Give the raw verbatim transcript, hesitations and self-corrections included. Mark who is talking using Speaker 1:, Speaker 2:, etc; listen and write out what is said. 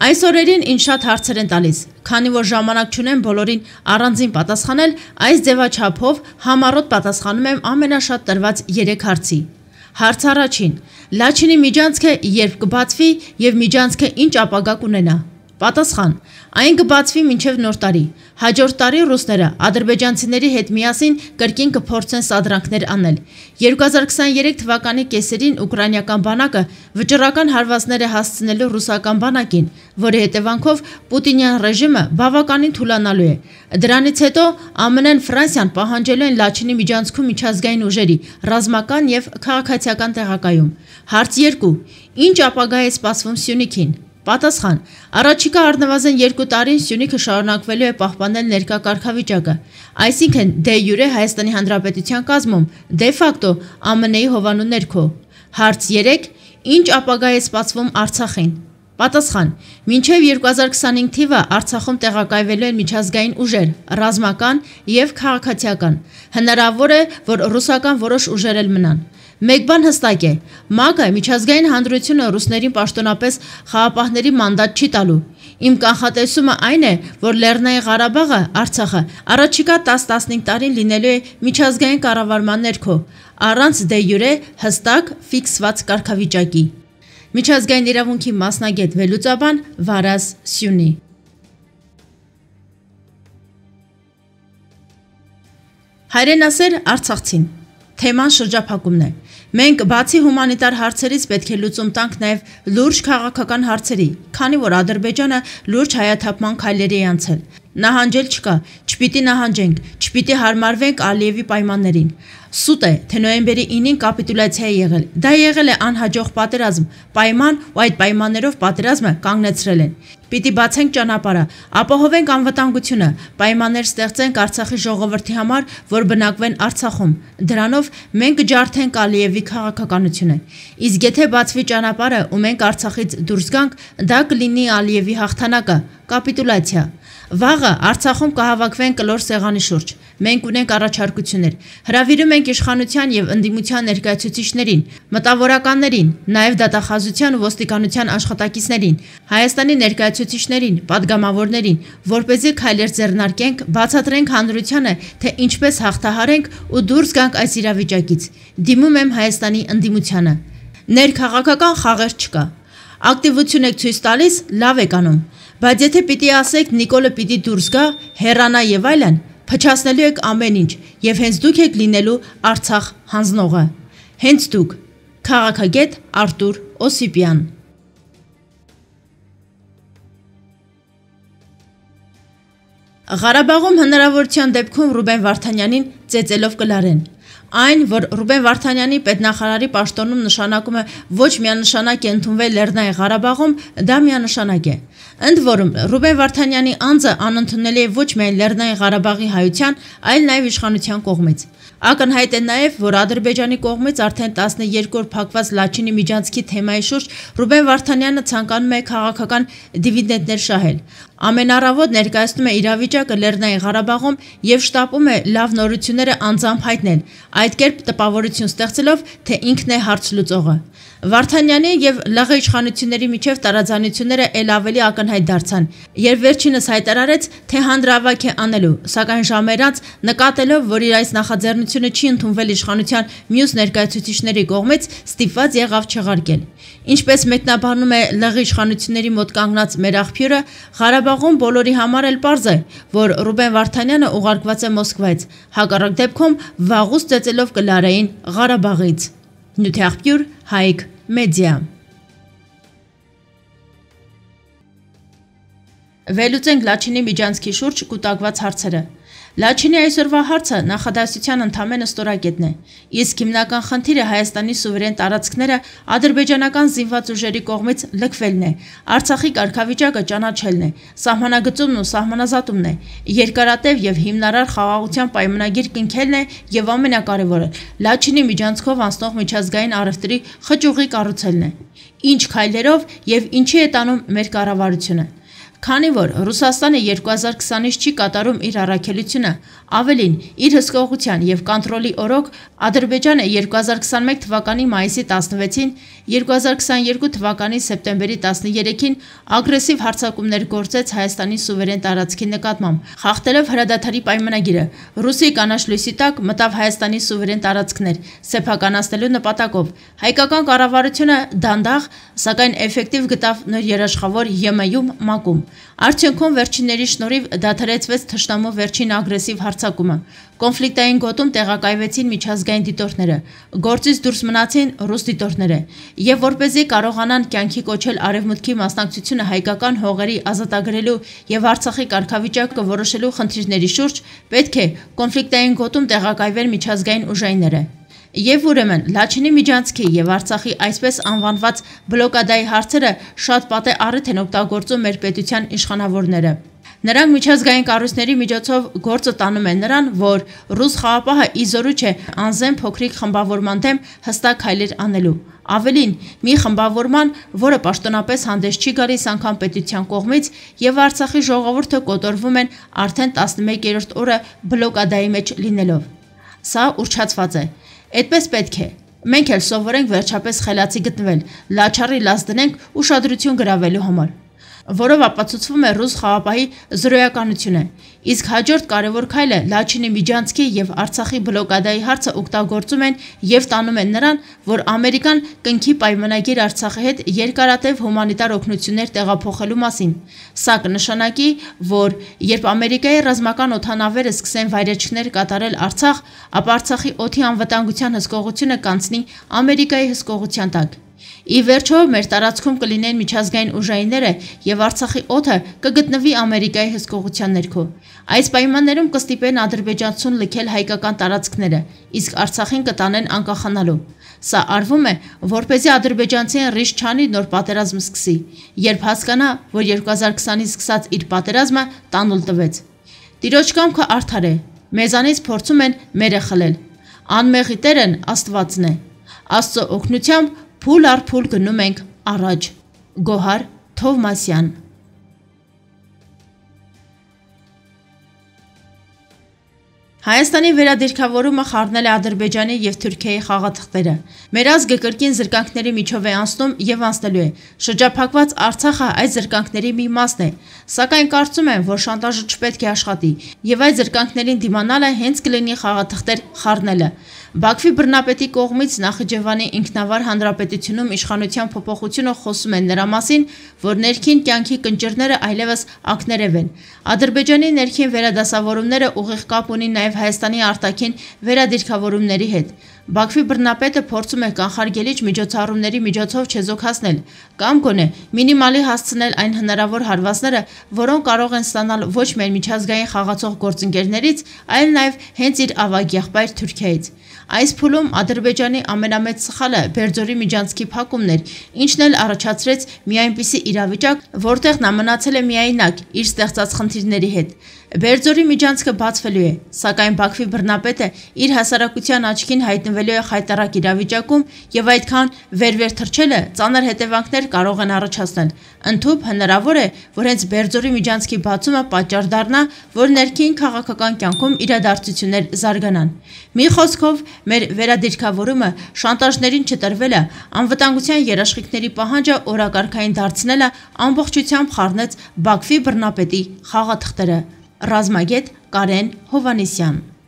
Speaker 1: Այս օրերին ինձ շատ հարցեր են տալիս, քանի որ ժամանակ չունեմ բոլորին առանձին պատասխանել, այս ձևաչափով համառոտ պատասխանում եմ ամենաշատ տրված երեք հարցի։ Հարց առաջին. Լաչինի միջանցքը երբ կբացվի եւ միջանցքը ինչ ապագա կունենա։ Պատասխան. այն կբացվի մինչև նոր տարի։ Հաջորդ տարի ռուսները ադրբեջանցիների հետ միասին կրկին կփորձեն սադրանքներ անել։ երկու հազար քսաներեք թվականի կեսերին ուկրաինական բանակը վճռական հարվածներ է հասցնելու ռուսական բանակին, որի հետևանքով Պուտինյան ռեժիմը բավականին թուլանալու է։ Դրանից հետո ԱՄՆ-ն, Ֆրանսիան պահանջելու են Լաչինի միջանցքում միջազգային ուժերի ռազմական եւ քաղաքացիական տեղակայում։ Հարց երկու. Ինչ ապագա է սպասվում Սյունիքին։ Պատասխան. Առաջիկա առնվազն երկու տարին Սյունիքը շարունակվելու է պահպանել ներկա կարգավիճակը, այսինքն դե յուրե Հայաստանի Հանրապետության կազմում, դե ֆակտո ԱՄՆ-ի հովանու ներքո։ Հարց երեք. Ինչ ապագա է սպասվում Արցախին։ Պատասխան. Մինչև երկու հազար քսանհինգ թիվը Արցախում տեղակայվելու են միջազգային ուժեր, ռազմական եւ քաղաքացիական։ Հնարավոր է, որ ռուսական որոշ ուժեր էլ մնան։ Մեկ բան հստակ է, ՄԱԿ-ը միջազգային հանրությունը ռուսներին պաշտոնապես խաղապահների մանդատ չի տալու։ Իմ կանխատեսումը այն է, որ Լեռնային Ղարաբաղը, Արցախը առաջիկա տասը-տասնհինգ տարին լինելու է միջազգային կառավարման ներքո, առանց դե յուրե հստակ ֆիքսված կարգավիճակի։ Միջազգային իրավունքի մասնագետ վերլուծաբան Վարազ Սյունի։ Հայրենասեր Արցախցին։ Թեման շրջափակումն է։ Մենք բացի հումանիտար հարցերից պետք է լուծում տանք նաև լուրջ քաղաքական հարցերի, քանի որ Ադրբեջանը լուրջ հայաթափման քայլերի է անցել։ Նահանջել չկա, չպիտի նահանջենք, չպիտի հարմարվենք Ալիևի պայմաններին։ Սուտ է, թե նոյեմբերի ինին կապիտուլյացիա է եղել։ Դա եղել է անհաջող պատերազմ, պայման ու այդ պայմաններով պատերազմը կանգնեցրել են։ Պիտի բացենք ճանապարհը, ապահովենք անվտանգությունը, պայմաններ ստեղծենք Արցախի ժողովրդի համար, որ բնակվեն Արցախում։ Դրանով մենք կջարդենք Ալիևի քաղաքականությունը։ Իսկ եթե բացվի ճանապարհը ու մենք Արցախից դուրս գանք, դա կլինի Ալիևի հաղթանակը, կապիտուլյացիա։ Վաղը Արցախում կհավաքվեն կլոր սեղանի շուրջ։ Մենք ունենք առաջարկություններ։ Հրավիրում ենք իշխանության եւ ընդդիմության ներկայացուցիչներին, մտավորականներին, նաեւ դատախազության ու ոստիկանության աշխատակիցներին, Հայաստանի ներկայացուցիչներին, падգամավորներին, որպեսզի քայլեր ձեռնարկենք, բացատրենք հանրությանը, թե ինչպես հաղթահարենք ու դուրս գանք այս իրավիճակից։ Դիմում եմ Հայաստանի ընդդիմությանը։ Ներքաղաքական խաղեր չկա։ Ակտիվություն եք ցույց տալիս, լավ եք անում, բայց եթե պիտի ասեք Նիկոլը պիտի դուրս գա, հեռանա եւ այլն, փչացնելու եք ամեն ինչ եւ հենց դուք եք լինելու Արցախ հանձնողը։ Հենց դուք։ Քաղաքագետ Արտուր Օսիպյան։ Ղարաբաղում հնարավորության դեպքում Ռուբեն Վարդանյանին ծեծելով կլարեն։ Այն, որ Ռուբեն Վարդանյանի պետնախարարի պաշտոնում նշանակումը ոչ միանշանակ է ընդունվել Լեռնային Ղարաբաղում, դա միանշանակ է։ Ընդ որում, Ռուբեն Վարդանյանի անձը անընդունելի է ոչ միայն Լեռնային Ղարաբաղի հայության, այլ նաև իշխանության կողմից։ Ակնհայտ է նաև, որ Ադրբեջանի կողմից արդեն տասներկու օր փակված Լաչինի միջանցքի թեմայի շուրջ Ռուբեն Վարդանյանը ցանկանում է քաղաքական դիվիդենտներ շահել։ Ամեն առավոտ ներկայացնում է իրավիճակը Լեռնային Ղարաբաղում եւ շտապում է լավ նորությունները անձամբ հայտնել, այդ կերպ տպավորություն ստեղծելով, թե ինքն է հարց լուծողը։ Վարդանյանի եւ ԼՂ իշխանությունների միջև տարաձայնությունները ել ավելի ակնհայտ դարձան, երբ վերջինս հայտարարեց, թե հանրավայք է անելու, սակայն ժամեր անց նկատելով, որ իր այս նախաձեռնությունը չի ընդունվել իշխանության մյուս ներկայացուցիչների կողմից, ստիպված եղավ չեղարկել։ Ինչպես մեկնաբանում է ԼՂ իշխանությունների մոտ կանգնած մեր աղբյուրը, Ղարաբաղում բոլորի համար էլ պարզ է, որ Ռուբեն Վարդանյանը ուղարկված է Մոսկվայից, հակառակ դեպքում վաղուց ծեծելով կլարեին Ղարաբաղից։ Նյութի աղբյուր Հայք մեդիա։ Վերլուծենք Լաչինի միջանցքի շուրջ կուտակված հարցերը։ Լաչինի այսօրվա հարցը նախադասության ընդամենը ստորակետն է, իսկ հիմնական խնդիրը Հայաստանի սուվերեն տարածքները ադրբեջանական զինված ուժերի կողմից լքվելն է, Արցախի կարգավիճակը ճանաչելն է, սահմանագծումն ու սահմանազատումն է, երկարատև եւ հիմնարար խաղաղության պայմանագիր կնքելն է եւ ամենակարևորը Լաչինի միջանցքով անցնող միջազգային առևտրի խճուղի կառուցելն է։ Ինչ քայլերով եւ ինչի է տանում մեր կառավարությունը։ Քանի որ Ռուսաստանը երկու հազար քսանից չի կատարում իր առաքելությունը, ավելին իր հսկողության եւ կոնտրոլի օրոք Ադրբեջանը երկու հազար քսանմեկ թվականի մայիսի տասնվեցին, երկու հազար քսաներկու թվականի սեպտեմբերի տասներեքին ագրեսիվ հարձակումներ գործեց Հայաստանի սուվերեն տարածքի նկատմամբ, խախտելով հրադադարի պայմանագիրը, Ռուսի կանաչ լույսի տակ մտավ Հայաստանի սուվերեն տարածքներ, սեփականացնելու նպատակով։ Հայկական կառավարությունը դանդաղ, սակայն էֆեկտիվ գտավ նոր երաշխավոր ԵՄ-ում ՄԱԿ-ում։ Արդյունքում վերջինների շնորհիվ դադարեցվեց թշնամու վերջին ագրեսիվ հարձակումը։ Կոնֆլիկտային գոտում տեղակայվեցին միջազգային դիտորդները, գործից դուրս մնացին ռուս դիտորդները, եւ որպեսզի կարողանան կյանքի կոչել արևմուտքի մասնակցությունը հայկական հողերի ազատագրելու եւ Արցախի կարգավիճակը որոշելու խնդիրների շուրջ, պետք է կոնֆլիկտային գոտում տեղակայվեն միջազգային ուժայինները։ Եվ ուրեմն Լաչինի միջանցքի եւ Արցախի այսպես անվանված բլոկադայի հարցերը շատ պատե առիթ են օգտագործում մեր պետության իշխանավորները։ Նրանք միջազգային կառույցների միջոցով գործը տանում են նրան, որ ռուս խաղապահը իզորու չէ անզեն փոքրիկ խմբավորման դեմ հստակ քայլեր անելու։ Ավելին, մի խմբավորման, որը պաշտոնապես հանդես չի գալիս անգամ պետության կողմից, եւ Արցախի ժողովուրդը կոտորվում են արդեն տասնմեկերորդ օրը բլոկադայի մեջ լինելով։ Սա ուռճացված է։ Այդպես պետք է։ Մենք էլ սովորենք վերջապես խելացի գտնվել, լաչառի լաց դնենք ուշադրություն գրավելու համար, որով ապացուցվում է ռուս խաղապահի զրոյականությունը։ Իսկ հաջորդ կարևոր քայլը Լաչինի միջանցքի եւ Արցախի բլոկադայի հարցը օգտագործում են եւ տանում են նրան, որ Ամերիկան կնքի պայմանագիր Արցախի հետ երկարատև հումանիտար օգնություններ տեղափոխելու մասին։ Սա կնշանակի, որ երբ Ամերիկայի ռազմական օդանավերը սկսեն վայրեջքներ կատարել Արցախ, ապա Արցախի օդի անվտանգության հսկողությունը կանցնի Ամերիկայի հսկողության տակ։ Ի վերջո մեր տարածքում կլինեն միջազգային ուժայինները եւ Արցախի օդը կգտնվի Ամերիկայի հսկողության ներքո։ Այս պայմաններում կստիպեն ադրբեջանցուն լքել հայկական տարածքները, իսկ Արցախին կտանեն անկախանալու։ Սա արվում է, որպեսզի ադրբեջանցին ռիսկ չանի նոր պատերազմ սկսի, երբ հասկանա, որ երկու հազար քսանից սկսած իր պատերազմը տանուլ տվեց։ Տիրոջ կամքը արդար է, մեզանից փորձում են մերը խլել։ Անմեղի Տերն Աստվածն է։ Աստծո օգնությամբ փուլ առ փուլ գնում ենք առաջ։ Գոհար Թովմասյան։ Հայաստանի վերադիրքավորումը խառնել է Ադրբեջանի եւ Թուրքիայի խաղաթղթերը։ Մեր ազգը կրկին զրկանքների միջով է անցնում եւ անցնելու է։ Շրջափակված Արցախը այս զրկանքների մի մասն է, սակայն կարծում եմ, որ շանտաժը չպետք է աշխատի եւ այդ զրկանքներին դիմանալը հենց կլինի խաղաթղթեր խառնելը։ Բաքվի բռնապետի կողմից Նախիջևանի ինքնավար հանրապետությունում իշխանության փոփոխությունը խոսում են նրա մասին, որ ներքին կյանքի կնճիռները այլևս ակներև են։ Ադրբեջանի ներքին վերադասավորումները ուղիղ կապ ունի նաև Հայաստանի արտաքին վերադիրքավորումների հետ։ Բաքվի բռնապետը փորձում է կանխարգելիչ միջոցառումների միջոցով չեզոքացնել կամ գոնե մինիմալի հասցնել այն հնարավոր հարվածները, որոնք կարող են ստանալ ոչ միայն միջազգային խաղացող գործընկերներից, այլ նաև հենց իր ավագ եղբայր Թուրքիայից։ Այս փուլում Ադրբեջանի ամենամեծ սխալը Բերձորի միջանցքի փակումն էր, ինչն էլ առաջացրեց մի այնպիսի իրավիճակ, որտեղ նա մնացել է միայնակ իր ստեղծած խնդիրների հետ։ Բերձորի միջանցքը բացվելու է, սակայն Բաքվի բռնապետը իր հասարակության աչքին հայտնվելու է խայտառակ իրավիճակում եւ այդքան վեր-վեր թռչելը ծանր հետևանքներ կարող են առաջացնել։ Ընդհուպ հնարավոր է, որ հենց Բերձորի միջանցքի բացումը պատճառ դառնա, որ ներքին քաղաքական կյանքում իրադարձություններ զարգանան։ Մի խոսքով, մեր վերադիրքավորումը, շանտաժներին չտրվելը, անվտանգության երաշխիքների պահանջը օրակարգային դարձնելը ամբողջությամբ խառնեց Բաքվի բռնապետի խաղաթղթերը։ Ռազմագետ Կարեն Հովհաննիսյան։